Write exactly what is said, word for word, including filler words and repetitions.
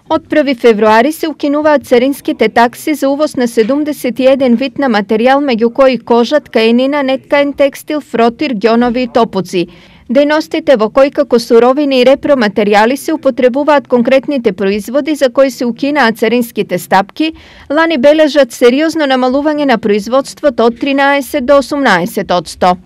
Од први февруари се укинуваат царинските такси за увоз на седумдесет и еден вид на материјал, меѓу кои кожа, ткаенина, неткаен текстил, фротир, ѓонови и топуци. Дејностите во кои како суровини и репроматеријали се употребуваат конкретните производи за кои се укинаат царинските стапки, лани бележат сериозно намалување на производството од тринаесет до осумнаесет одсто.